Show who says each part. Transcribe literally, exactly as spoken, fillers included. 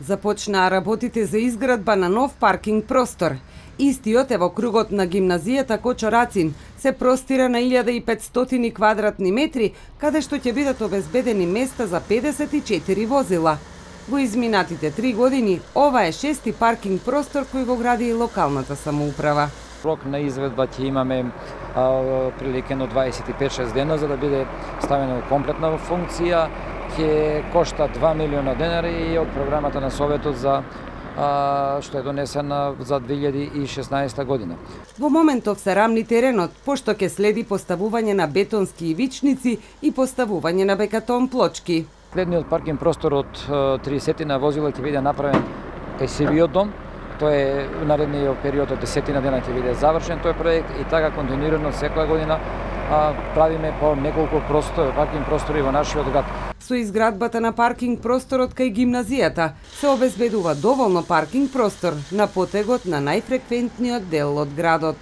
Speaker 1: Започнаа работите за изградба на нов паркинг простор. Истиот е во кругот на гимназијата Кочо Рацин, се простира на илјада и петстотини квадратни метри, каде што ќе бидат обезбедени места за педесет и четири возила. Во изминатите три години, ова е шести паркинг простор кој го гради и локалната самоуправа.
Speaker 2: Рок на изведба ќе имаме а, прилike на дваесет и пет шест дена за да биде ставена во комплетна функција. Ќе кошта два милиона денари од програмата на Советот за а, што е донесена за две илјади и шеснаесета година.
Speaker 1: Во моментов се рамни теренот, пошто ќе следи поставување на бетонски ивичници и поставување на бекатон плочки.
Speaker 2: Следниот паркинг простор од тридесетина возила ќе биде направен кај Сивиот дом. Тој е наредниот период од десетина дена ќе биде завршен тој проект и така континуирано секоја година а, правиме по неколку простор, паркинг простори во нашиот град.
Speaker 1: Со изградбата на паркинг просторот кај гимназијата се обезбедува доволно паркинг простор на потегот на најфреквентниот дел од градот.